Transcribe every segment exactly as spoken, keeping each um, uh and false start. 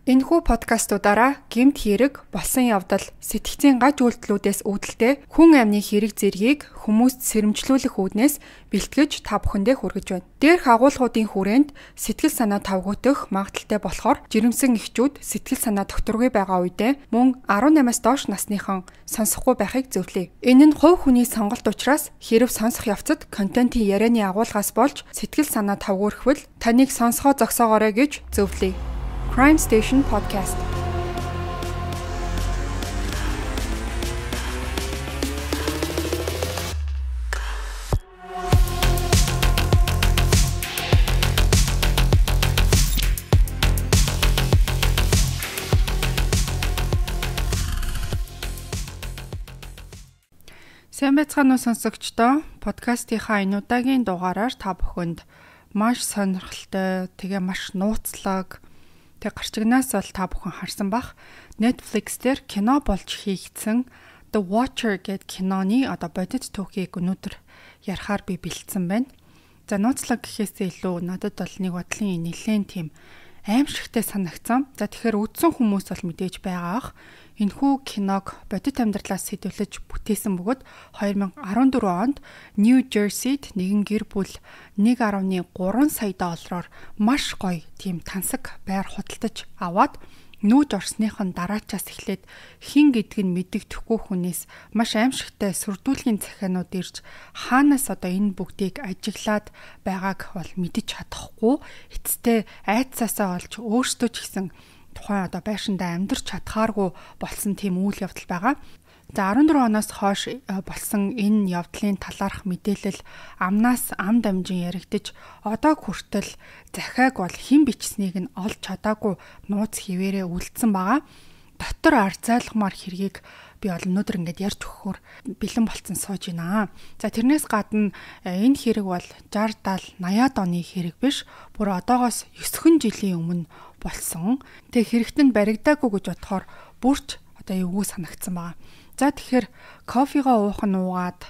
Энэхүү подкастуудаараа гэмт хэрэг, болсон явдал, сэтгцийн гаж үйлдэлүүдээс үүдэлтэй хүн амны хэрэг зэргийг хүмүүст сэрэмжлүүлэх үүднээс бэлтгэж та бүхэндээ хүргэж байна. Дээрх агуулгуудын хүрээнд сэтгэл санаа тавгуутах магадaltaй болохоор жирэмсэн эхчүүд сэтгэл санаа докторгүй байгаа үедээ мөн арван намаас доош насныхан сонсохгүй байхыг зөвлөе. Энэ нь хувь хүний сонголт учраас хэрв сонсох явцад контентын ярианы агуулгаас болж сэтгэл санаа тавгуурхвал таныг сонсгоо зогсоогоорой гэж зөвлөе. Crime Station Podcast. Сайн байцгаана уу сонсогчдоо. Подкастынхаа энэ удаагийн дугаараар та бүхэнд маш сонирхолтой, тэгээ маш нууцлаг Тэг гарчигнаас бол та бүхэн харсан бах Netflix дээр кино болж хийгдсэн The Watcher гэдэг киноны одоо бодит түүхийг өнөөдөр ярихаар би бэлдсэн байна. За нууцлаг гэхээсээ илүү надад бол нэг бодлын нэлээд тийм аимшигтай санагцсан. За тэгэхээр үзсэн хүмүүс бол мэдээж байгаа ах. Энэхүү киног бодит амьдралаас сэдвлэж бүтээсэн бөгөөд две thousand fourteen онд New Jersey-д нэгэн гэр бүл one point three сая доллараар маш гоё тийм тансаг байр худалдаж аваад нүүж орсныхон дараачаас эхлээд хин гэдг нь мэддэхгүй хүнээс маш аимшигтай сүрдүүлгийн захианууд ирж хаанаас одоо энэ бүгдийг ажиглаад байгааг бол мэдэж чадахгүй эцэстээ айцаасаа олж өөрсдөө ч гэсэн тухайн одоо байшиндаа амьдарч чадхааргүй болсон тийм үйл явдал байгаа. За fourteen оноос хойш болсон энэ явдлын талаарх мэдээлэл амнаас ам дамжин яригдж одоо хүртэл захиаг бол хэн бичснийг нь олж чадаагүй нууц хിവэрээ үлдсэн байгаа. Дотор арзайлгмаар хэргийг би бол өнөөдөр ингээд ярьж өгөхөөр бэлэн болцсон сууж байна. За тэрнээс гадна энэ хэрэг бол sixty seventy eighty оны хэрэг биш. Бүр одоогоос nine жилийн өмнө болсон. Тэг хэрэгтэнд баригдаагүй гэж бодохоор бүрч одоо эвгүй санагдсан байгаа. За тэгэхээр кофегаа уух нь уугаад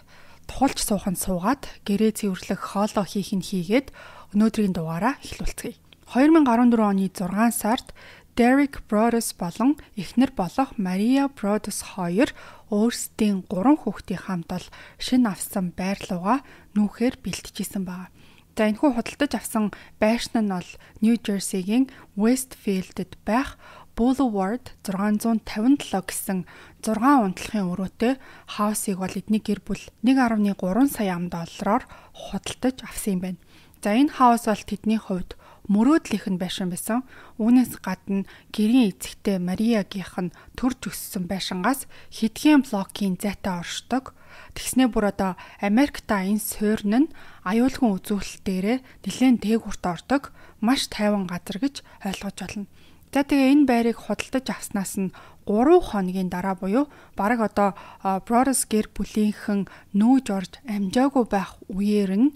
тухалж суух нь суугаад гэрээ цэвэрлэх хоолоо хийх нь хийгээд өнөөдрийн дугаараа эхлүүлцгээе. twenty fourteen оны six сард Derek Broaddus болон эхнэр болох Maria Broaddus хоёр өөрсдийн гурван хүүхдийн хамт ол шинэ авсан байрлуугаа нүүхээр бэлтжижсэн байна. За энэхүү худалдаж авсан байшин нь бол New Jersey-гийн Westfield-д байх Boulevard six fifty-seven гэсэн six унтлахын өрөөтэй хаусыг бол эдний гэр бүл one point three сая ам доллараар худалдаж авсан юм байна. За энэ хаус бол тэдний хувьд мөрөөдлийнх нь байшин байсан. Үүнээс гадна гэрийн эцэгтэй Мариагийнх нь төрж өссөн байшингаас хэдхэн блокийн зайтай оршдог. Тэгснээ бүр одоо Америкта энэ суурин нь аюулгүй үзүүлэлтээрээ нэлээд дээгүүрт ордог маш тайван газар гэж ойлгож байна. За тэгээ энэ байрыг худалдаж авснаас нь three хоногийн дараа буюу бараг одоо Broaddus гэр бүлийнхэн нүүж орж амжаагүй байх үеэр нь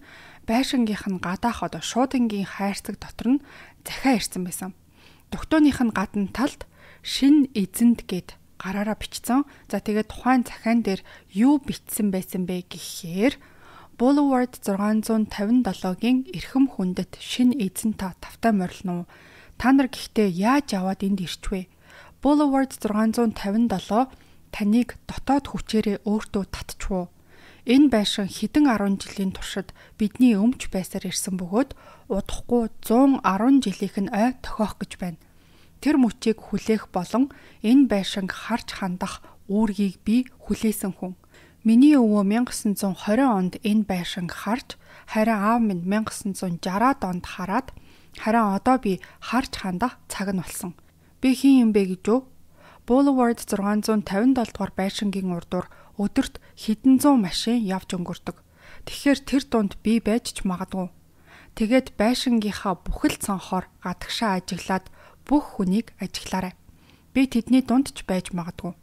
байшингийнх нь гадаах одоо шуудангийн хайрцаг дотор нь захиа ирсэн байсан. Дугтууных нь гадна талд шин эзэнт гэд гараараа бичсэн. За тэгээд тухайн захиан дээр юу бичсэн байсан бэ гэхээр Boulevard six fifty-seven-гийн эрхэм хүндэт шин эзэн та тавтай морилно. Та нар гэхдээ яаж аваад энд ирчвэ? Boulevard six fifty-seven таныг дотоод хүчээрээ өөртөө татчихв. Энэ байшин хэдэн ten жилийн туршид бидний өмч байсаар ирсэн бөгөөд удахгүй one ten жилийнх нь ой тохиох гэж байна. Тэр мөчийг хүлээх болон энэ байшинг харж хандах үүргийг би хүлээсэн хүн. Миний өвөө nineteen twenty онд энэ байшинг харж, харин аав минь nineteen sixty онд хараад, харин одоо би харж хандах цаг нь болсон. Би хэн юм бэ гэж үү? Boulevard six fifty-seven дугаар байшингийн урдуур өдөрт хэдэн зуун машин явж өнгөрдөг. Тэгэхээр тэр дунд би байж ч магадгүй. Тэгээд байшингийнхаа бүхэл цонхоор гадагшаа ажиглаад бүх хүнийг ажиглаарай. Би тэдний дунд ч байж магадгүй.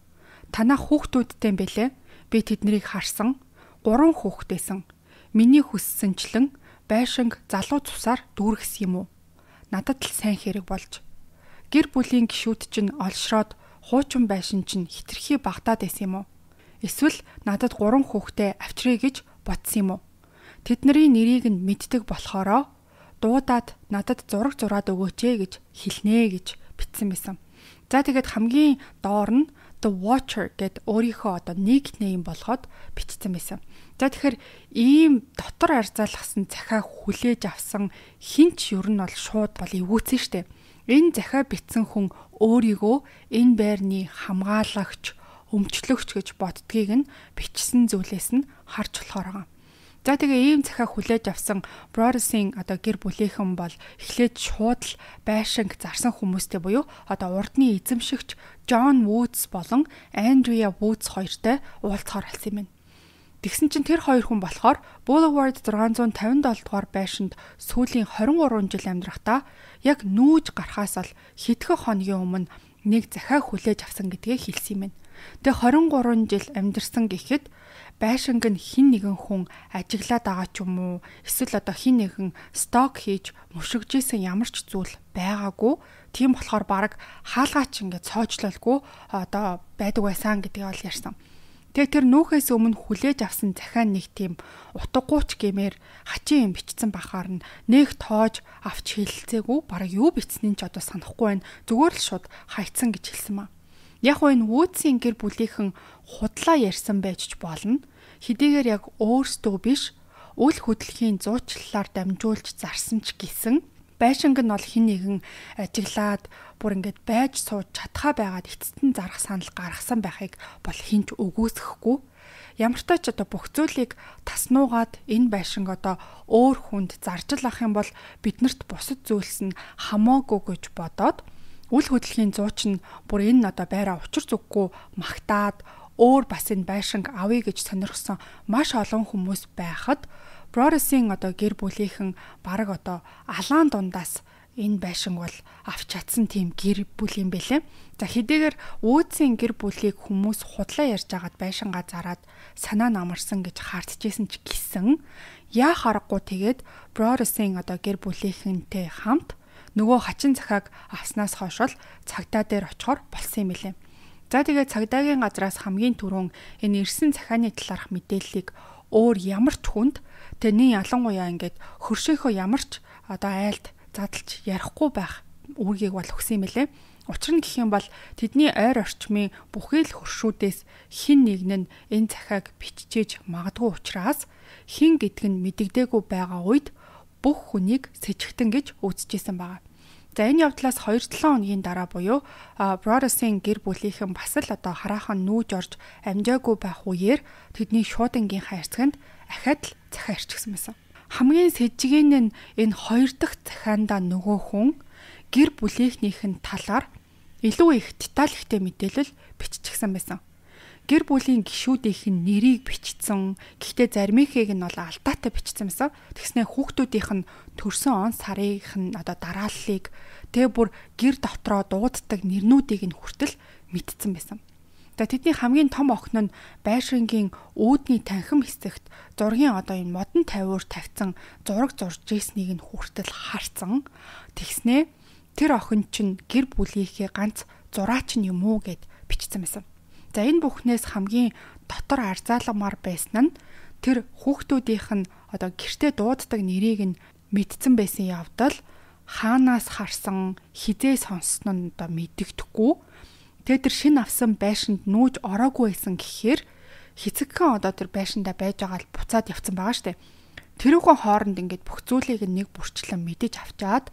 Танаа хүүхдүүдтэй бэлээ. Би тэднийг харсан. Гурван хүүхдээсэн. Миний хүссэнчлэн байшинг залуу цусаар дүүргэсэн юм уу? Надад л сайн хэрэг болж. Гэр бүлийн гишүүд чинь олшроод хуучин байшин чинь хитрхи багтаад байсан юм уу? Эсвэл надад гурван хүүхдээ авчръя гэж бодсон юм уу? Тэдний нэрийг нь мэддэг болохоро дуудаад надад зураг зураад өгөөч ээ гэж хэлнэ гэж бичсэн байсан. За тэгээд хамгийн доор нь The Watcher гэд өөрийнхөө одоо никнейм болгоод бичсэн байсан. За тэгэхээр ийм дотор арзаалгасан захиа хүлээж авсан хинч ер нь бол шууд бол эвгүүцэн штэ. Энэ захиа бичсэн хүн өөрийгөө энэ байрны хамгаалагч, өмчлөгч гэж боддгийг нь бичсэн зүйлээс нь харж болохоор байгаа. За тэгээ ийм захиа хүлээж авсан Broaddus-ийн одоо гэр бүлийнхэн бол эхлээд шууд л байшинг зарсан хүмүүстэй буюу одоо урдны эзэмшигч John Woods болон Andrea Woods хоёртой уулзахаар болсон юм байна. Тэгсэн чинь тэр хоёр хүн болохоор Boulevard сix fifty дугаар байшинд сүүлийн twenty-three жил амьдрахдаа яг нүүж гарахаас л хэдхэн хоногийн өмнө нэг захиа хүлээж авсан гэдгээ хэлсэн юм байна. Тэгээ twenty-three жил амьдарсан гэхэд байшинг нь хин нэгэн хүн ажиглаад байгаа ч юм уу эсвэл одоо хин нэгэн сток хийж мушигжсэн ямар ч зүйл байгаагүй. Тийм болохоор баг хаалгаач ингээд цоожлолгүй одоо байдаг байсан гэдгийг ол ярьсан. Тэгээ тэр нүүхээс өмнө хүлээж авсан захиа нэг тийм утгагууч гэмээр хачин юм бичсэн бахаар нь нэг тоож авч хэлэлцээгүй баг юу бичснээ ч одоо санахгүй байна. Зүгээр л шууд хайцсан гэж хэлсэн маа. Яг уу энэ Woods-ийн гэр бүлийнхэн худлаа ярьсан байж ч болно. Хэдийгээр яг өөрсдөө биш үл хөдлөхийн зуучлалаар дамжуулж зарсан ч гэсэн байшинг нь бол хин нэгэн ажиглаад бүр ингээд байж сууж чадхаа байгаад эцэст нь зарах санал гаргасан байхыг бол хинч өгөөсөхгүй. Ямар ч тач одоо бүх зүйлийг таснуугаад энэ байшинг одоо өөр хүнд зарж л ах юм бол биднэрт бусад зүйлс нь хамаагүй гэж бодоод үл хөдлөхийн зууч нь бүр энэ одоо байраа учир зүггүй магтаад өөр бас энэ байшинг авъя гэж сонирхсон маш олон хүмүүс байхад Broaddus-ийн одоо гэр бүлийнхэн бараг одоо алаан дундаас энэ байшинг бол авч чадсан тийм гэр бүл юм бэлээ. За хэдийгээр Woods-ийн гэр бүлийг хүмүүс худлаа ярьж агаад байшингаа зараад санаа намарсан гэж хаардчихсэн ч гэсэн яа харахгүй тэгээд Broaddus-ийн одоо гэр бүлийнхэнтэй хамт нөгөө хачин захиаг авснаас хойш бол цагдаа дээр очихоор болсон юм билээ. За тэгээд цагдаагийн газраас хамгийн түрүүн энэ ирсэн захианы талаарх мэдээллийг өөр ямар ч хүнд тэний ялангуяа ингээд хөршөөхөө ямар ч одоо айлд задлж ярихгүй байх үүргийг бол өгсөн юм билээ. Учир нь гэх юм бол тэдний ойр орчмын бүхий л хөршүүдээс хин нэг нь энэ захиаг биччихэж магадгүй учраас хин гэдг нь мэдэгдээгүй байгаа үед бүх хүнийг сэжигтэн гэж үзэжсэн байгаа. За энэ явдлаас two to seven хоногийн дараа буюу Broaddus-ийн гэр бүлийнхэн бас л одоо хараахан нүүж орж амжаагүй байх үеэр тэдний шуудангийн хайрцагт ахад л захиа ирчихсэн байсан. Хамгийн сэжигэн нь энэ хоёр дахь захиандаа нөгөө хүн гэр бүлийнхнийхэн талаар илүү их деталь ихтэй мэдээлэл биччихсэн байсан. Гэр бүлийн гишүүдийнхэн нэрийг бичсэн. Гэхдээ заримынхийг нь бол алдаатай бичсэн байсан. Тэгснэ хүүхдүүдийнх нь төрсөн он сарынх нь одоо дарааллыг тэгээ бүр гэр дотроо дууддаг нэрнүүдийг нь хүртэл мэдсэн байсан. За тэдний хамгийн том охин нь байшингийн үүдний танхим хэсэгт зургийн одоо энэ модон тавиур тавьсан зураг зурж ийснийг нь хүртэл харсан. Тэгснэ тэр охин чинь гэр бүлийнхээ ганц зураач нь юм уу гэд бичсэн байсан. За энэ бүхнээс хамгийн дотор арзааламар байсан нь тэр хүүхдүүдийнх нь одоо гэртээ дууддаг нэрийг нь мэдсэн байсан явдал хаанаас харсан хизээ сонссон нь одоо мэддэхгүй. Тэгээ тэр шин авсан байшинд нүүж ороогүй байсан гэхээр хэцэгхэн одоо тэр байшиндаа байж байгаа л буцаад явцсан байгаа штэ. Тэрүүхэн хооронд ингээд бүх зүйлийг нэг бүрчлэн мэдэж авчаад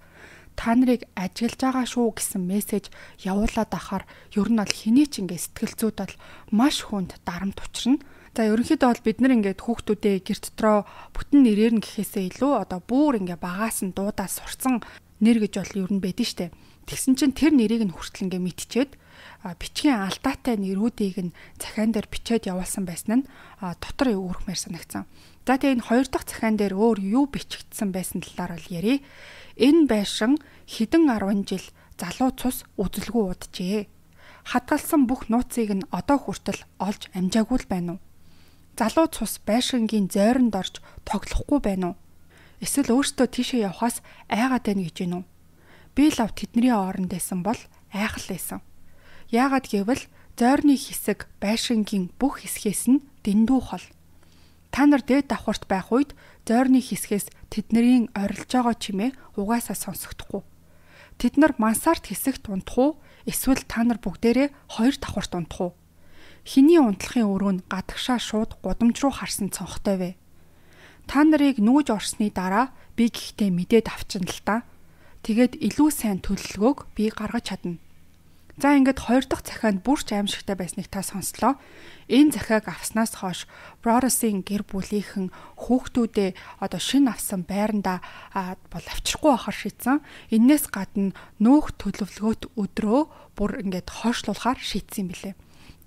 та нарыг ажиглаж байгаа шүү гэсэн мессеж явуулаад ахаар ер нь бол хэний ч ингээд сэтгэл зүйд бол маш хүнд дарамт учрна. За ерөнхийдөө бол бид нар ингээд хүүхдүүдээ гэр дотроо бүтэн нэрээр нь гэхээсээ илүү одоо бүр ингээд багаас нь дуудаа сурсан нэр гэж бол ер нь байдэн штэ. Тэгсэн чинь тэр нэрийг нь хүртэл ингээд мэдчихэд бичгийн алдаатай нэрүүдийг нь захиан дээр бичээд явуулсан байсан нь дотор өөрхмээр санагцсан. За тэгээ энэ хоёр дахь захиан дээр өөр юу бичигдсэн байсан талаар бол ярив. Энэ байшин хэдэн арван жил залуу цус үзэлгүй уджээ. Хадгалсан бүх нууцыг нь одоо хүртэл олж амжаагүй л байна уу? Залуу цус байшингийн зойронд орж тоглохгүй байна уу? Эсвэл өөртөө тийшээ явхаас айгаад байна гэж байна уу? Би л ав тэдний оронд байсан бол айхал байсан. Яагаад гэвэл зойрны хэсэг байшингийн бүх хэсгээс нь дэндүү хол. Та нар дээд давхарт байх үед зойрны хэсгээс тэднэрийн орилж байгаа чимээ угаасаа сонсогдохгүй. Тэд нар мансарт хэсэгт унтах уу? Эсвэл та нар бүгдээрээ хоёр давхарт унтах уу? Хиний унтлахын өрөө нь гадагшаа шууд гудамж руу харсан цонхтой вэ? Та нарыг нүүж орсны дараа би гэхдээ мэдээд авчина л та. Тэгээд илүү сайн төлөвлөгөөг би гаргаж чадна. За ингээд хоёр дахь захианд бүрч аимшигтай байсныг та сонслоо. Энэ захиаг авснаас хойш Бродерсын гэр бүлийнхэн хүүхдүүдээ одоо шинэ авсан байранда бол авчрахгүй байхаар шийдсэн. Иннээс гадна нөөх төлөвлөгөөт өдрөө бүр ингээд хойшлуулахаар шийдсэн юм билээ.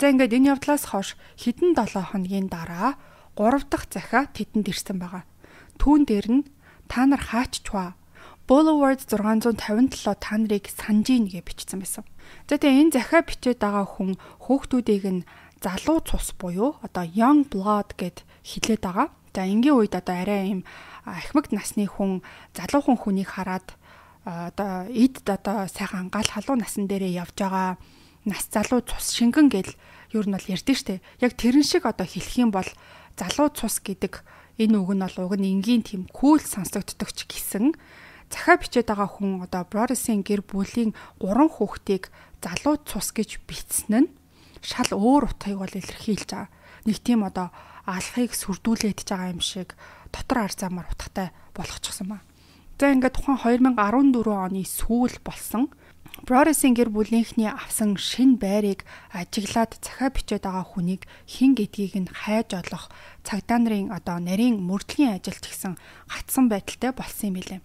За ингээд энэ явдлаас хойш хэдэн долоо хоногийн дараа гурав дахь захиа тэдэнд ирсэн байгаа. Түүн дээр нь та нар хааччваа. Boulevard six five seven та нарыг санжийн гэж бичсэн байсан. За тэгээ энэ захиа бичээд байгаа хүн хүүхдүүдийг нь залуу цус буюу одоо young blood гэд хэлээд байгаа. За энгийн үед одоо арай ийм ахмад насны хүн залуухан хүнийг хараад одоо эд одоо сайхан гал халуун насан дээрээ явж байгаа нас залуу цус шингэн гэл ер нь бол ярьдэн штэ. Яг тэрэн шиг одоо хэлэх юм бол залуу цус гэдэг энэ үг нь бол уг нь энгийн тийм кул сонсогддог ч гэсэн захиа бичээд байгаа хүн одоо Бродерсын гэр бүлийн гурван хүүхдийг залуу цус гэж бичсэн нь шал өөр утгыг бол илэрхийлж байгаа. Нэг тийм одоо алхахыг сүрдүүлээд байгаа юм шиг дотор ар замаар утгатай болгочихсон ба. За ингээд тухайн two thousand fourteen оны сүүл болсон Бродерсын гэр бүлийнхний авсан шинэ байрыг ажиглаад захиа бичээд байгаа хүнийг хэн гэдгийг нь хайж олох цагдаа нарын одоо нарийн мөрдлийн ажилт гэсэн гацсан байдалтай болсон юм билээ.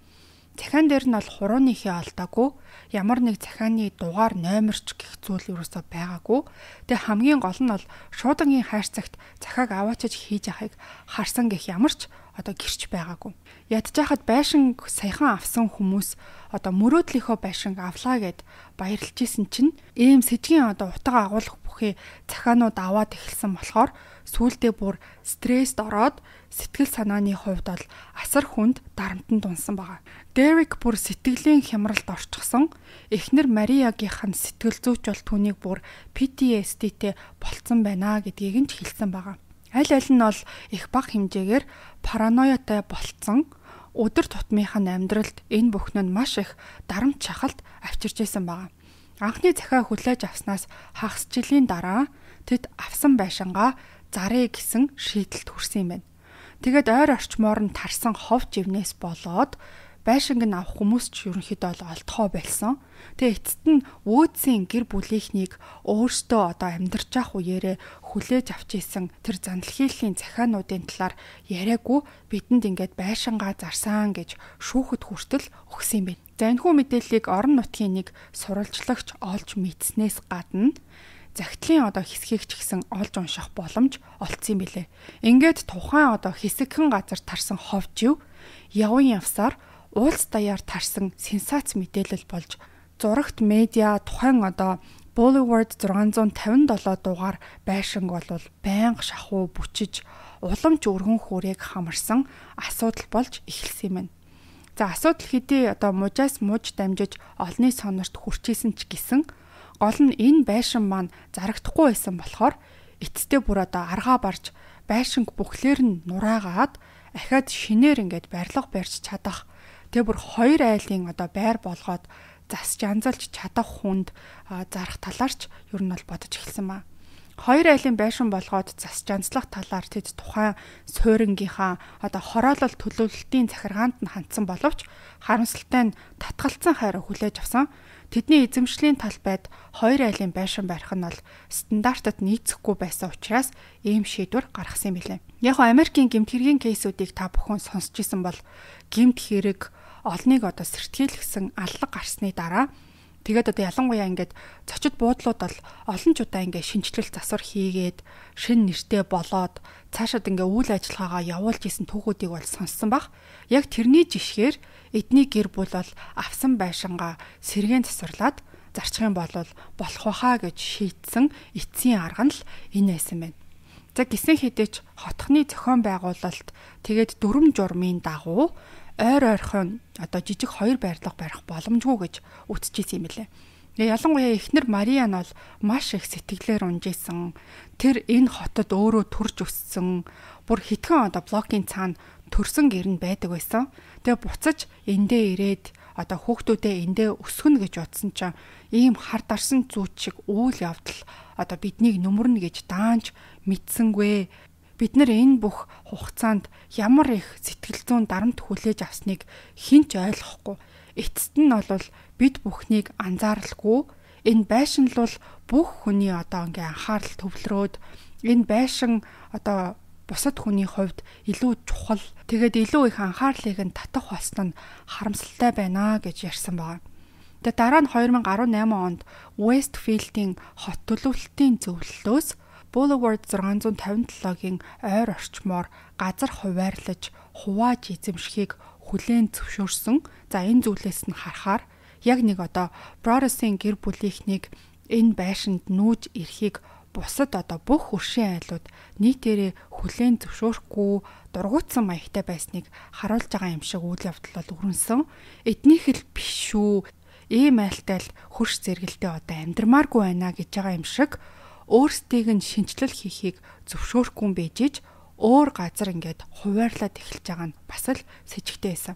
Захиан дээр нь бол хурууныхээ алдаагүй, ямар нэг захианы дугаар номерч гэх зүйл юусоо байгаагүй. Тэгээ хамгийн гол нь бол шуудангийн хайр цагт захиаг аваачиж хийж яхахыг харсан гэх ямарч одоо гэрч байгаагүй. Ядчихад байшин саяхан авсан хүмүүс одоо мөрөөдлийнхөө байшинг авлаа гэд баярлж исэн чинь ийм сэжгийн одоо утга агуулгах бүхий захианууд аваад эхэлсэн болохоор сүүлдээ бүр стресст ороод сэтгэл санааны хувьд бол асар хүнд дарамтанд унсан байгаа. Дерек бүр сэтгэлийн хямралд орчихсон. Эхнэр Мариягийнх нь сэтгэл зүйч бол түүнийг бүр пи ти эс ди-тэй болцсон байна гэдгийг нь ч хэлсэн байгаа. Аль аль нь бол их бага хэмжээгээр параноятай болцсон. Өдөр тутмынхаа амьдралд энэ бүхэн нь маш их дарамт шахалт авчирч байсан байгаа. Анхны захиа хүлээж авснаас хагас жилийн дараа тэд авсан байшингаа зарыг гэсэн шийдэлд хүрсэн юм байна. Тэгээд ойр орчмоор нь тарсан хов живнээс болоод байшинг нь авах хүмүүс ч ерөнхийдөө бол олдохоо болсон. Тэгээ эцэст нь өөдсийн гэр бүлийнхнийг өөртөө одоо амьдарч явах үеэрээ хүлээж авч исэн тэр зандлахийллийн захиануудын талаар яриаггүй бидэнд ингээд байшингаа зарсан гэж шүүхэд хүртэл өгсөн юм байна. За энэхүү мэдээллийг орон нутгийн нэг сурвалжлагч олж мэдснээс гадна загтлын одоо хэсгийг ч гэсэн олж унших боломж олцсон юм билээ. Ингээд тухайн одоо хэсэгхэн газар тарсан ховжив явын явсаар уулс даяар тарсан сенсац мэдээлэл болж зурагт медиа тухайн одоо Boulevard six five seven дугаар байшинг бол байнга шахуу бүчиж уламж өргөн хүрээг хамарсан асуудал болж эхэлсэн юм байна. За асуудал хэдий одоо мужаас муж дамжиж олны сонорт хүрчээсэн ч гэсэн гол нь энэ байшин маань зарагдахгүй байсан болохоор эцэстээ бүр одоо аргаа барж байшинг бүхлээр нь нураагаад ахаад шинээр ингээд барилга барьж чадах. Тэгээ бүр хоёр айлын одоо байр болгоод засч анзалж чадах хүнд зарах талаарч ер нь бол бодож эхэлсэн ба. Хоёр айлын байшин болгоод засч анзлах талаар тэд тухайн суурингийнхаа одоо хороолол төлөвлөлтийн захиргаанд нь хандсан боловч харамсалтай нь татгалцсан хайраа хүлээж авсан. Тэдний эзэмшлийн талбайд хоёр айлын байшин барих нь бол стандартад нийцэхгүй байсан учраас ийм шийдвэр гаргасан юм билээ. Яг нь Америкийн гэмт хэргийн кейсүүдийг та бүхэн сонсч исэн бол гэмт хэрэг олныг одоо сэртгийлгсэн аллаг гарсны дараа тэгээд одоо ялангуяа ингээд зочид буудлууд бол олон ч удаа ингээд шинжилэл засвар хийгээд шин нэртэй болоод цаашаад ингээд үйл ажиллагаагаа явуулж исэн түүхүүдийг бол сонссон баг. Яг тэрний жишгээр эдний гэр бүл бол авсан байшингаа сэргээн засварлаад зарчих юм бол болох байхаа гэж шийдсэн эцсийн арга нь л энэ байсан байна. За гисэн хэдэж хотхны зохион байгуулалт тэгээд дүрм журмын дагуу ойр ойрхон одоо жижиг хоёр байрлал барих боломжгүй гэж үтчихсэн юм билээ. Ялангуяа эхнэр Мария нь бол маш их сэтгэлээр унжээсэн. Тэр энэ хотод өөрөө төрж өссөн. Бүр хитгэн одоо блокийн цаана төрсөн гэр нь байдаг байсан. Тэгээ буцаж эндээ ирээд одоо хүүхдүүдээ эндээ өсгөнө гэж утсан чинь ийм хар дарсан зүйч шиг үйл явдал одоо биднийг нүмернэ гэж даанч мэдсэнгүй. Бид нар энэ бүх хугацаанд ямар их сэтгэл зүйн дарамт хүлээж авсныг хэн ч ойлгохгүй. Эцэст нь бол бид бүхнийг анзааралгүй. Энэ байшин л бүх хүний одоо ингээ анхаарал төвлөрөөд энэ байшин одоо бусад хүний хувьд илүү чухал. Тэгээд илүү их анхаарлыг нь татах болсон нь харамсалтай байна гэж ярьсан байна. Тэгээд дараа нь две тысячи десять онд Westfield-ийн хот төлөвлөлтийн зөвлөлөөс Boulevard six fifty-seven-гийн ойр орчмоор газар хуваарлаж, хувааж эзэмшихийг хүлээн зөвшөөрсөн. За энэ зүйлээс нь харахаар яг нэг одоо Brothers-ийн гэр бүлийнхнийг энэ байшинд нүүж ирэхийг бусад одоо бүх хөршийн айлууд нийтээрээ хүлээн зөвшөөрөхгүй дургуутсан маягтай байсныг харуулж байгаа юм шиг үйл явдал бол өрнөсөн. Эднийх л биш шүү. Ийм айлтай л хөрш зэрэгэлдээ одоо амьдрмааргүй байна гэж байгаа юм шиг өөрсдийг нь шинчлэл хийхийг зөвшөөрөхгүй юм бэжиж өөр газар ингээд хуваарлаад эхэлж байгаа нь бас л с ิจ гтэй байсан.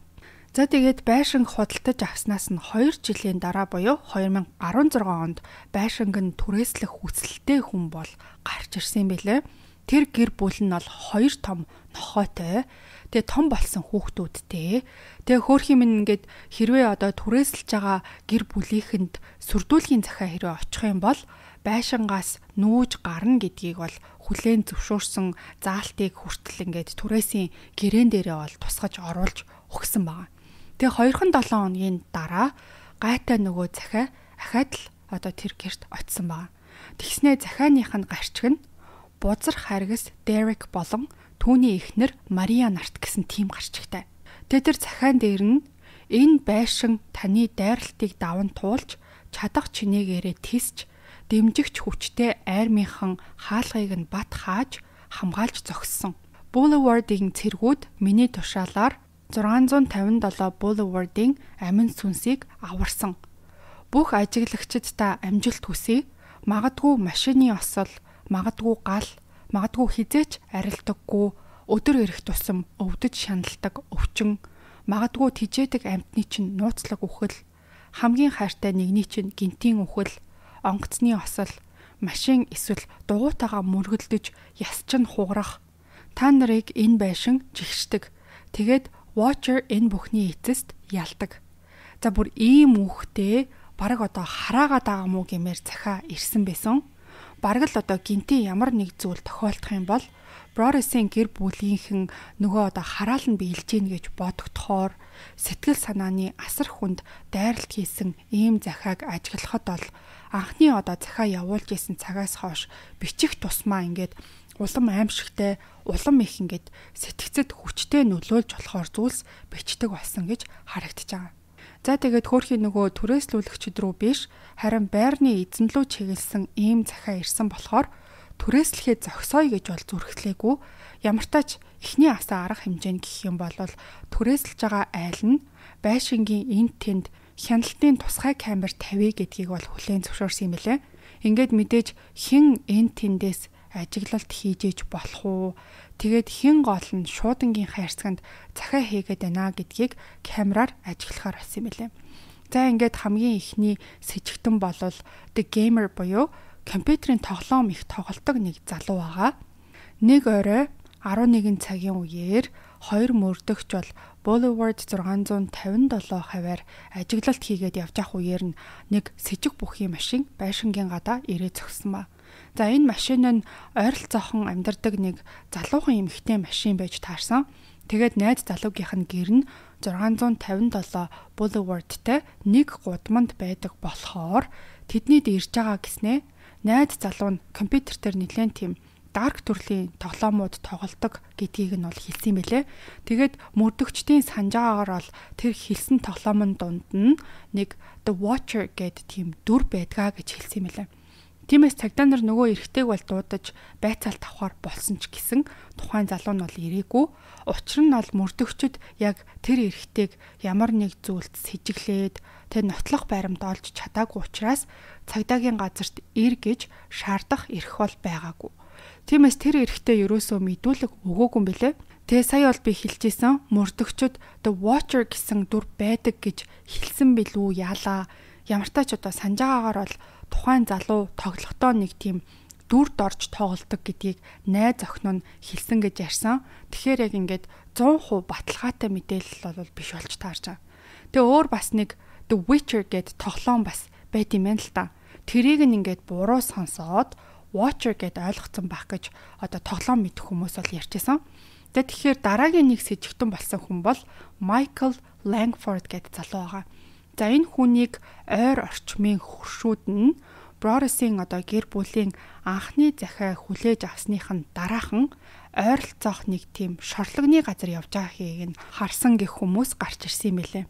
За тэгээд байшинг худалдаж авснаас нь хоёр жилийн дараа буюу две тысячи sixteen онд байшинг нь түрээслэх хүсэлтэй хүн бол гарч ирсэн байлээ. Тэр гэр бүл нь бол хоёр том нохойтой. Тэгээ том болсон хүүхдүүдтэй. Тэгээ хөөрхийн минь ингээд хэрвээ одоо түрээсэлж байгаа гэр бүлийнхэнд сүрдүүлгийн захиа хэрвээ очих юм бол байшингаас нүүж гарна гэдгийг бол хүлээн зөвшөөрсөн заалтыг хүртэл ингээд түрээсийн гэрээн дээрээ бол тусгаж оруулж өгсөн байна. Тэгээ хоёрхан долоон хоногийн дараа гайтай нөгөө захиа ахаад л одоо тэр гэрт очсон байна. Тэгснээ захианых нь гарчиг нь бузар харгас Дерек болон түүний эхнэр Мария нарт гэсэн тим гарчигтай. Тэгээ тэр захиан дээр нь энэ байшин таны дайралтыг даван туулж чадах чинээгээрээ тисч дэмжигч хүчтэй айрмынхан хаалгыг нь бат хааж хамгаалж зогссон. Boulevard-ийн цэргүүд миний тушаалаар six fifty-seven Boulevard-ийн амин сүнсийг аварсан. Бүх ажиглагчид та амжилт хүсье. Магадгүй машины осол, магадгүй гал, магадгүй хизээч арилдаггүй, өдөр ирэх тусам өвдөж шаналдаг өвчин, магадгүй тижээдэг амьтны чинь нууцлаг үхэл, хамгийн хайртай нэгний чинь гинтийн үхэл, онгоцны осол, машин эсвэл дугуйтайгаа мөргөлдөж ясчин хугарах. Та нарыг энэ байшин жигшдэг. Тэгээд Watcher энэ бүхний эцэст ялдаг. За бүр ийм үхтэй бараг одоо хараагаад байгаа мó гэмээр захиа ирсэн байсан. Бараг л одоо гинти ямар нэг зүйл тохиолдох юм бол Brothers-ийн гэр бүлийнхэн нөгөө одоо хараал нь биелж гин гэж бодогдохоор сэтгэл санааны асар хүнд дайралт хийсэн ийм захиаг ажиглахад бол анхны одоо захиа явуулж исэн цагаас хойш бичих тусмаа ингээд улам аимшигтай, улам их ингээд сэтгцэд хүчтэй нөлөөлж болохоор зүйлс бичдэг болсон гэж харагдаж байгаа. За тэгээд хөөрхийн нөгөө түрээслүүлэгчд рүү биш, харин байрны эзэн лөө чиглэсэн ийм захиа ирсэн болохоор түрээслэхээ зогсоё гэж бол зүрхлээгүй. Ямар ч тач эхний асаа арга хэмжээ гэх юм бол түрээслэж байгаа айл нь байшингийн энд тэнд хяналтын тусгай камер тавья гэдгийг бол хүлээн зөвшөөрсөн юм билээ. Ингээд мэдээж хэн энд тэндээс ажиглалт хийж иж болох уу? Тэгээд хэн гол нь шуудангийн хайрцагт захиа хийгээд байна гэдгийг камераар ажиглахаар болсон юм билээ. За ингээд хамгийн ихний с ิจ гтэн болвол The Gamer буюу компьютерийн тоглоом их тоглодог нэг залуу байгаа. Нэг орой eleven цагийн үеэр хоёр мөрдөгч бол Boulevard six fifty-seven хаваар ажиглалт хийгээд явж ах үеэр нь нэг с ิจ гь бүхий машин байшингийн гадаа ирээ зогссон ба. За энэ машин нь ойролцоохон амьдардаг нэг залуухан эмэгтэй машин байж таарсан. Тэгээд найз залуугийнх нь гэр нь six fifty-seven Boulevard-тай нэг гудамд байдаг болохоор тэднийд ирж байгаа гэснээ найз залуу нь компьютер дээр нэлээд тийм дарк төрлийн тоглоомууд тоглодог гэдгийг нь бол хэлсэн байлээ. Тэгээд мөрдөгчдийн санаж байгаагаар бол тэр хэлсэн тоглоомын дунд нь нэг The Watcher гэдэг тийм дүр байдгаа гэж хэлсэн байлээ. Тиймээс цагдаа нар нөгөө эрэгтэйг бол дуудаж байцаалт авахар болсон ч гэсэн тухайн залуу нь бол ирээгүй. Учир нь бол мөрдөгчд яг тэр эрэгтэйг ямар нэг зүйлд сэжиглээд тэр нотлох байрамд олж чадаагүй учраас цагдаагийн газарт ир гэж шаардах эрх бол байгаагүй. Тиймээс тэр эрэгтэй ерөөсөө мэдүүлэг өгөөгүй юм билэ. Тэгээ сая бол би хэлчихсэн мөрдөгчд the watcher гэсэн дүр байдаг гэж хэлсэн билүү яалаа. Ямартай ч одоо санаж байгаагаар бол тухайн залуу тоглохдоо нэг тийм дүрд орж тоглодог гэдгийг найз охин нь хэлсэн гэж ярьсан. Тэгэхээр яг ингээд сто процент баталгаатай мэдээлэл бол биш болж таарч байгаа. Тэгээ өөр бас нэг The Witcher гэд тоглоом бас байт юм байна л та. Тэрийг нь ингээд буруу сонсоод Watcher гэд ойлгоцсон байх гэж одоо тоглоом мэдэх хүмүүс бол ярьжсэн. Тэгээ тэгэхээр дараагийн нэг с сэжигтэн болсон хүн бол Michael Langford гэд залуу байгаа. За энэ хүнийг ойр орчмын хөршүүд нь Broros-ийн одоо гэр бүлийн анхны захиа хүлээж авсных нь дараахан ойролцоох нэг тийм шорлогны газар явж байгааг нь харсан гэх хүмүүс гарч ирсэн юм билээ.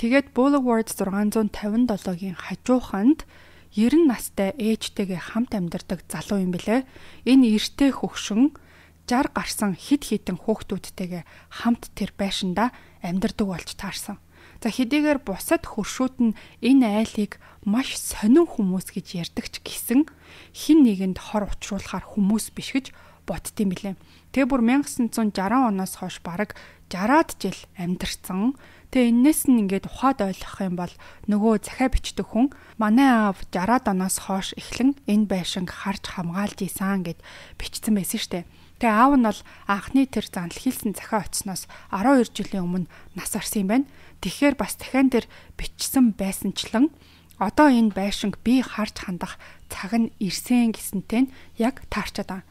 Тэгээд Boulevard сix five seven-гийн хажууханд ninety настай ээжтэйгээ хамт амьдардаг залуу юм билээ. Энэ эртний хөгшин sixty гарсан хид хідэн хүүхдүүдтэйгээ хамт тэр байшинда амьдардаг болж таарсан. За хэдийгээр бусад хөршүүд нь энэ айлыг маш сонин хүмүүс гэж ярьдаг ч гэсэн хин нэгэнд хор учруулахар хүмүүс биш гэж боддtiin билээ. Тэгээ бүр nineteen sixty оноос хойш бараг sixty жил амьдарсан. Тэгээ энэс нь ингээд ухаад ойлгох юм бол нөгөө захиа бичдэг хүн манай аав sixty оноос хойш эхлэн энэ байшинг харж хамгаалж исэн гэд бичсэн байсан штэ. Тэгээ аав нь бол анхны тэр занл хийсэн захиа очсноос twelve жилийн өмнө нас орсон юм байна. Тэгэхээр бас дахиан дээр бичсэн байсанчлан одоо энэ байшинг би харж хандах цаг нь ирсэн гэсэнтэй яг таарчаад байгаа.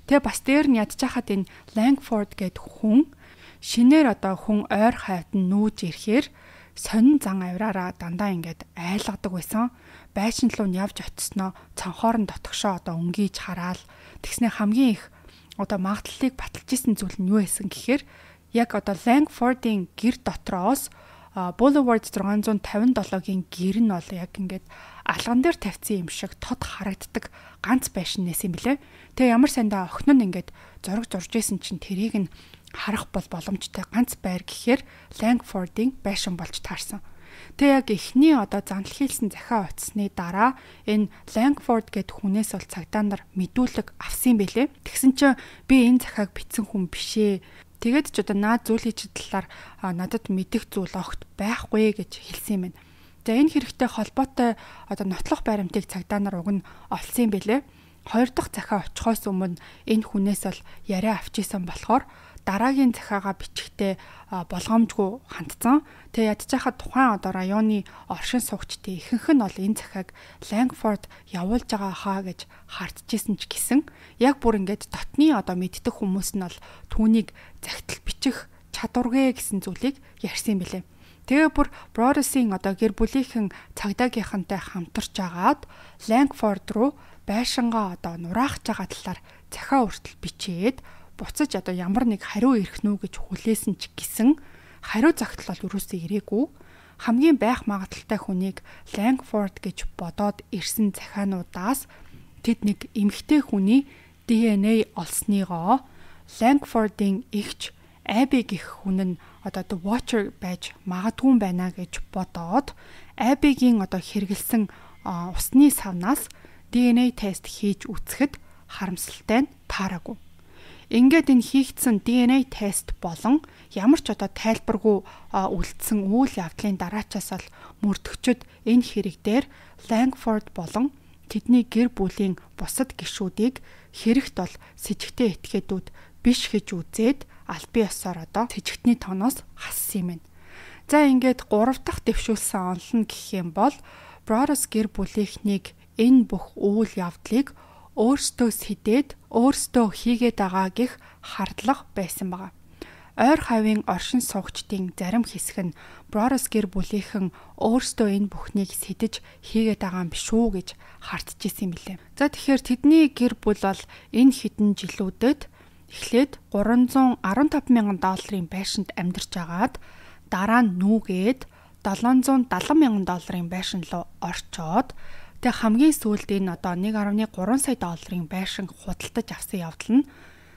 Тэгээ бас дээр нь ядж хахад энэ Langford гэд хүн шинээр одоо хүн ойр хавьд нь нүүж ирэхээр сонин зан авираараа дандаа ингээд айлгадаг байсан. Байшин руу нь явж очсноо цонхоор нь дотгошоо одоо өнгийж хараал. Тэгснэ хамгийн их одоо магадлалыг баталж исэн зүйл нь юу байсан гэхээр яг одоо Langford-ийн гэр дотроос Boulevard six fifty-seven-гийн гэр нь бол яг ингээд алган дээр тавьсан юм шиг тод харагддаг ганц байшин нэс юм блэ. Тэгээ ямар сандаа охин нь ингээд зураг зурж исэн чинь тэрийг нь харах бол боломжтой ганц байр гэхээр Langford-ийн байшин болж таарсан. Тэгээ яг эхний одоо занл хийлсэн захиа утасны дараа энэ Langford гэд хүнээс бол цагдаа нар мэдүүлэг авсан байлээ. Тэгсэн чинь би энэ захиаг бичсэн хүн бишээ. Тэгээд ч одоо наад зүйлийн талаар надад мэдих зүйл огт байхгүй гэж хэлсэн юм байна. За энэ хэрэгтэй холбоотой одоо нотлох баримтыг цагдаа нар уг нь олсон юм байлээ. Хоёр дахь захиа очихоос өмнө энэ хүнээс бол яриа авчижсэн болохоор дараагийн захиагаа бичихтэй болгоомжгүй хандсан. Тэгээ ядчихад тухайн одоо районы оршин суугчдын ихэнх нь бол энэ захиаг Langford явуулж байгаа хаа гэж хардчихсэн ч гэсэн яг бүр ингээд дотны одоо мэддэг хүмүүс нь бол түүнийг захидал бичих чадваргүй гэсэн зүйлийг ярьсан юм билээ. Тэгээ бүр Broros-ийн одоо гэр бүлийнхэн цагдаагийнхантай хамтарч агаад Langford руу байшингаа одоо нураах байгаа талаар захиа хүртэл бичээд буцаж одоо ямар нэг хариу ирэх нү гэж хүлээсэн ч гэсэн хариу загтал бол юусоо ирээгүй. Хамгийн байх магадaltaй хүнийг Langford гэж бодоод ирсэн захиануудаас тэд нэг эмэгтэй хүний ди эн эй олсныгоо Langford-ийн эгч Abby гэх хүн нь одоо The Watcher байж магадгүй байна гэж бодоод Abby-гийн одоо хэрэгэлсэн усны савнаас ди эн эй тест хийж үзэхэд харамсалтай нь таараагүй. Ингээд энэ хийгдсэн ди эн эй тест болон ямар ч одоо тайлбаргүй үлдсэн үйл явдлын дараачаас бол мөрдөгчд энэ хэрэг дээр Langford болон тэдний гэр бүлийн бусад гишүүдийг хэрэгт бол сэжигтэй этгээдүүд биш гэж үзээд аль бие ёсоор одоо сэжигтний тооноос хассан юм байна. За ингээд гурав дахь дэвшүүлсэн онол нь гэх юм бол Broros гэр бүлийнхнийг энэ бүх үйл явдлыг өөрсдөө сэдээд өөрсдөө хийгээд байгаа гэх хардлага байсан байгаа. Ойр хавийн оршин суугчдын зарим хэсэг нь Broros гэр бүлийнхэн өөрсдөө энэ бүхнийг сэдэж хийгээд байгаа юм биш үү гэж хардчихсан юм билээ. За тэгэхээр тэдний гэр бүл бол энэ хэдэн жилүүдэд эхлээд three hundred fifteen мянган долларын байшинд амьдарч агаад дараа нь нүүгээд seven hundred seventy мянган долларын байшин руу орчоод тэг хамгийн сүүлд энэ одоо one point three сая долларын байшин худалдаж авсан явдал нь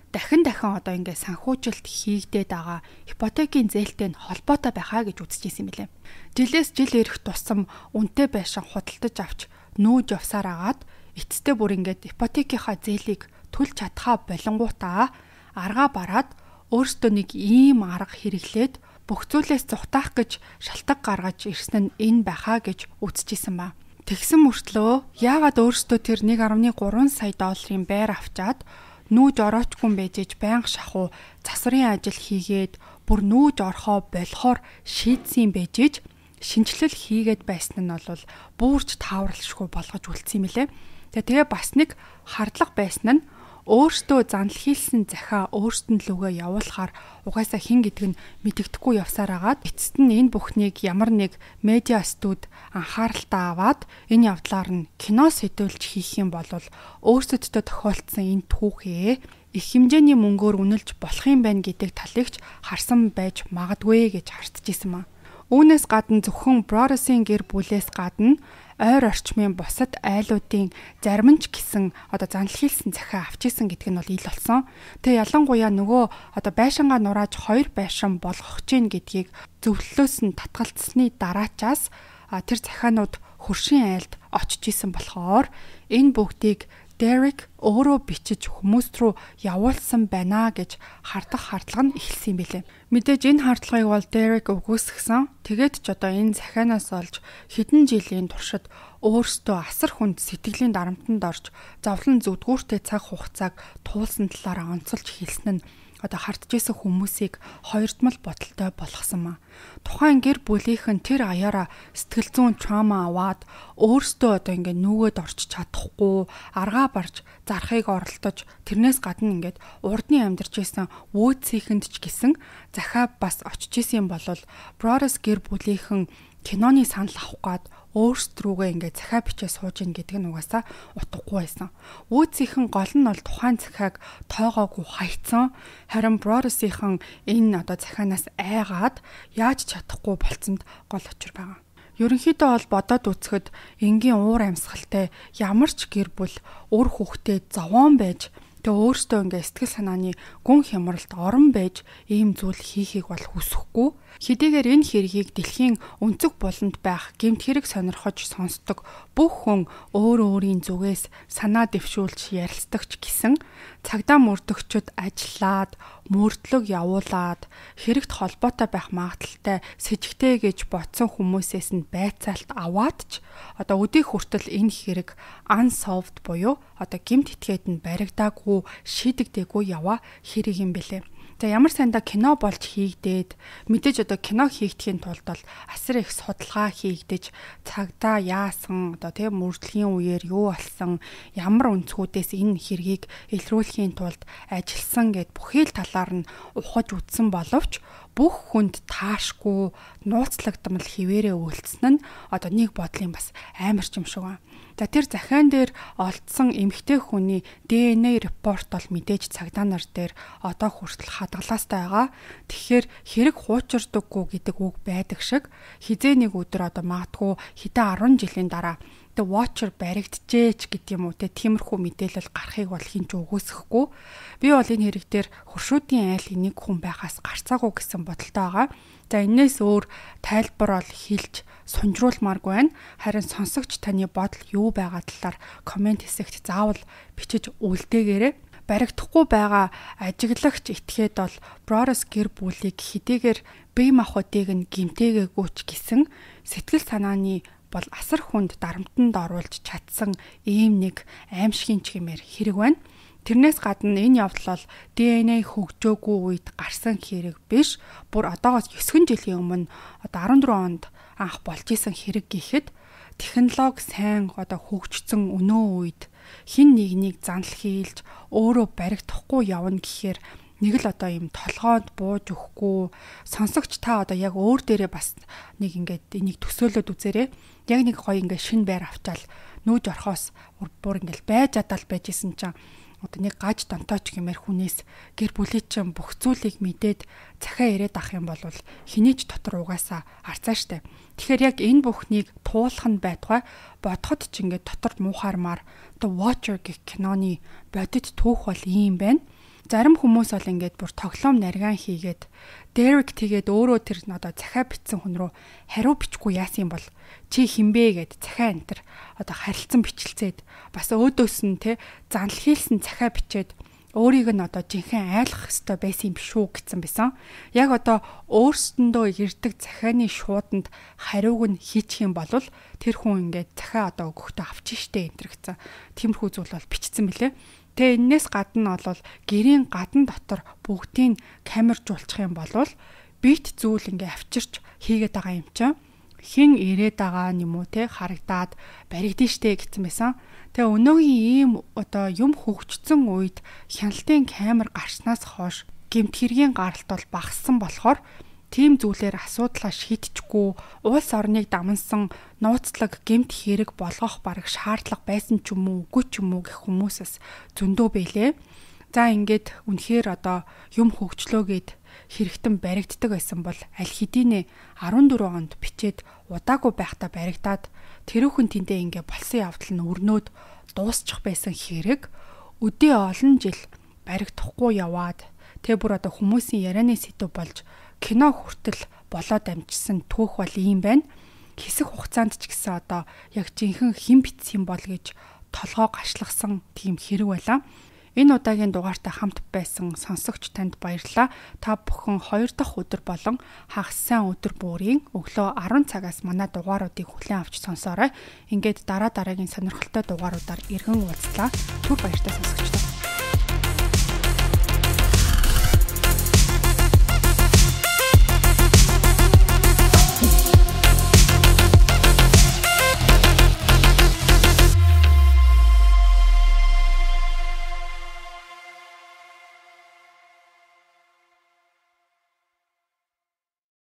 дахин дахин одоо ингээд санхүүжилт хийгдээд байгаа ипотекийн зээлтэй холбоотой байхаа гэж үзчихсэн юм билээ. Жилээс жил ирэх тусам үнэтэй байшин худалдаж авч нүүж явсаар агаад эцэстээ бүр ингээд ипотекийнхаа зээлийг төлж чадхаа болонгуудаа аргаа бараад өөртөө нэг ийм арга хэрэглээд бүх зүйлээс зүхтаах гэж шалтгаан гаргаж ирсэн нь энэ байхаа гэж үзчихсэн ба. Тэгсэн мөртлөө яагаад өөртөө тэр нэг гаруй гурван сая долларын байр авчаад нүүж ороочгүй байж иж байнга шахуу засварын ажил хийгээд бүр нүүж орхоо болохоор шийдсэн байж иж шинжилэл хийгээд байсан нь бол буурч тааварлшгүй болгож үлдсэн юм лээ. Тэгээ бас нэг хардлага байсан нь өөртөө занл хийлсэн захиа өөртөө лүгээ явуулахаар угаасаа хин гэдэг нь мэдэгдэхгүй явсаар агаад эцэст нь энэ бүхнийг ямар нэг медиа студ анхааралтай аваад энэ явдлаар нь кино сэдвүүлж хийх юм бол өөрсөддөө тохиолдсон энэ түүхээ их хэмжээний мөнгөөр үнэлж болох юм байна гэдэг талыгч харсан байж магадгүй гэж хартжсэн маа. Үүнээс гадна зөвхөн Brothers-ийн гэр бүлээс гадна ойр орчмын бусад айлуудын зарим ч гэсэн одоо занл хийлсэн захиа авчижсэн гэдэг нь бол ил болсон. Тэгээ ялангуяа нөгөө одоо байшингаа нурааж хоёр байшин болгох чинь гэдгийг зөвлөлөөс нь татгалцсны дараачаас тэр захианууд хөршийн айлд очиж исэн болохоор энэ бүгдийг Derek өөрөө бичиж хүмүүст рүү явуулсан байна гэж хардах хардлага нь эхэлсэн юм билээ. Мэдээж энэ хардлагыг бол Derek өгөөсгсөн. Тэгээд ч одоо энэ захианаас олж хэдэн жилийн туршид өөрсдөө асар хүнд сэтгэлийн дарамтанд орж зовлон зүдгүүртэй цаг хугацааг туулсан талаараа онцолж хэлсэн нь одоо харджсэн хүмүүсийг хоёрдмол бодолтой болгосон маа. Тухайн гэр бүлийнхэн тэр аяараа сэтгэл зүйн траума аваад өөрсдөө одоо ингээд нүгэд орч чадахгүй, аргаа барж зархыг оролдож тэрнээс гадна ингээд урдны амьдарч исэн вөөцийнхэнд ч гэсэн захиа бас очиж исэн юм бол Brothers гэр бүлийнхэн киноны санал авах гад өөрсдрүүгээ ингээд захиа бичээ сууж ийн гэдэг нь угаасаа утгагүй байсан. Вөөцийнхэн гол нь бол тухайн захиаг тоогоогүй хайцсан. Харин Brothers-ийнхэн энэ одоо захианаас айгаад яаж чадахгүй болцсонд гол учир байгаа. Ерөнхийдөө бол бодоод үзэхэд энгийн уур амьсгалтай ямар ч гэр бүл үр хүүхдээ зовоон байж тэгээ өөртөө ингээ сэтгэл санааны гүн хямралд орон байж ийм зүйл хийхийг бол хүсэхгүй. Хэдийгээр энэ хэргийг дэлхийн өнцөг буланд байх гэмт хэрэг сонирхож сонсдог бүх хүн өөр өөрийн зүгээс санаа дэвшүүлж ярилцдаг ч гэсэн цагдаа мөрдөгчд ажиллаад мөрдлөг явуулаад хэрэгт холбоотой байх магадaltaй сэжигтэй гэж бодсон хүмүүсээс нь байцаалт аваад ч одоо өдий хүртэл энэ хэрэг unsolved буюу одоо гэмт этгээд нь баригдаагүй шийдэгдээгүй яваа хэрэг юм бэлээ. За ямар санда кино болж хийгдээд мэдээж одоо кино хийгдэхийн тулд бол асар их судалгаа хийгдэж цагдаа яасан одоо тийм мөрдлөгийн үеэр юу болсон ямар өнцгүүдээс энэ хэргийг илрүүлэхийн тулд ажилласан гэд бүхий л талаар нь ухаж үзсэн боловч бүх хүнд таашгүй нууцлагдмал хിവэрэ үйлцсэн нь одоо нэг бодлын бас амар ч юм шиг байна. За тэр захиан дээр олдсон эмэгтэй хүний ди эн эй репорт бол мэдээж цагдаа нар дээр одоо хүртэл хадгалаастай байгаа. Тэгэхээр хэрэг хуучирдаггүй гэдэг үг байдаг шиг хизээ нэг өдөр одоо магадгүй хэдэн арван жилийн дараа the watcher баригджээч гэдэг юм уу те тиймэрхүү мэдээлэл гарахыг бол хинч өгөөсөхгүй. Би бол энэ хэрэг дээр хуршуудын айл энийг хүн байхаас гарцаагүй гэсэн бодолтой байгаа. За энэс өөр тайлбар бол хэлж сунжруулмааргүй байна. Харин сонсогч таны бодол юу байгаа талаар комент хэсэгт заавал бичиж үлдээгээрэй. Баригдахгүй байгаа ажиглагч этгээд бол Brothers гэр бүлийг хэдийгээр бие махбодыг нь гимтээгээгүй ч гэсэн сэтгэл санааны бол асар хүнд дарамтанд оруулж чадсан ийм нэг аимшигын чимээр хэрэг байна. Тэрнээс гадна энэ явдал бол ди эн эй хөгжөөгүй үед гарсан хэрэг биш. Бүр одоогоос девять жилийн өмнө одоо арван дөрвөн онд анх болж исэн хэрэг гэхэд технологи сайн одоо хөгжсөн өнөө үед хин нэгнийг занл хийлж өөрөө баригдахгүй явна гэхээр нэг л одоо юм толгойд бууж өгөхгүй сонсогч та одоо яг өөр дээрээ бас нэг ингээд энийг төсөөлөд үзээрэй. Яг нэг гоё ингээд шин байр авчаал нүүж орхоос бүр ингээд байж чадал байж исэн чинь одоо нэг гаж донтооч гэмээр хүнээс гэр бүлийн чинь бүх зүйлийг мэдээд захиа ирээд ах юм бол хинийч дотор угаасаа арцаа штэ. Тэгэхээр яг энэ бүхнийг туулах нь байтугай бодоход ч ингээд дотор муухаармаар The Watcher гэх киноны бодит түүх бол ийм байна. Зарим хүмүүс бол ингээд бүр тоглоом наргаан хийгээд Derek тэгээд өөрөө тэр одоо захаа бичсэн хүн рүү хариу бичихгүй яасан юм бол чи хинбэ гэд захаа энтер одоо харилцан бичлцээд бас өөдөөс нь те занл хийлсэн захаа бичээд өөрийг нь одоо жинхэнэ айлах хэвээр байсан юм биш үү гэсэн байсан. Яг одоо өөрсдөндөө ирдэг захааны шууданд хариуг нь хийчих юм бол тэр хүн ингээд захаа одоо өгөхдөө авч штэ энтер гэсэн. Тиймэрхүү зүйл бол бичсэн мөлий. Тэгээ энэс гадна бол гэрийн гадна дотор бүгдийг камержуулчих юм бол бит зүйл ингээ авчирч хийгээд байгаа юм чинь хэн ирээд байгаа юм уу те харагдаад баригдэн штэ гэсэн байсан. Тэгээ өнөөгийн ийм одоо юм хөгжсөн үед хяналтын камер гарснаас хойш гэмт хэргийн гаралт бол багассан болохоор тийм зүйлээр асуудлаа шийдчихгүй улс орныг дамнсан нууцлаг гэмт хэрэг болгох бараг шаардлага байсан ч юм уу үгүй ч юм уу гэх хүмүүсээс зөндөө байлээ. За ингээд үнэхээр одоо юм хөгжлөөгээд хэрэгтэн баригддаг байсан бол аль хэдийнэ арван дөрвөн онд бичээд удаагүй байхдаа баригдаад тэрүүхэн тэндээ ингээ болсон явдал нь өрнөөд дуусчих байсан хэрэг өдөө олон жил баригдахгүй яваад тэг бүр одоо хүмүүсийн ярианы сэдв болж кино хүртэл болоод амжсан түүх бол ийм байна. Хэсэг хугацаанд ч гэсэн одоо яг жинхэнэ хэн битсэн бол гэж толгоо гашлагсан тийм хэрэг байлаа. Энэ удаагийн дугаартай хамт байсан сонсогч танд баярлалаа. Та бүхэн хоёр дахь өдөр болон хагас сайн өдөр бүрийн өглөө арван цагаас манай дугааруудыг хүлээн авч сонсоорой. Ингээд дараа дараагийн сонирхолтой дугааруудаар иргэн уулзлаа. Түр баяртай сонсогчдоо.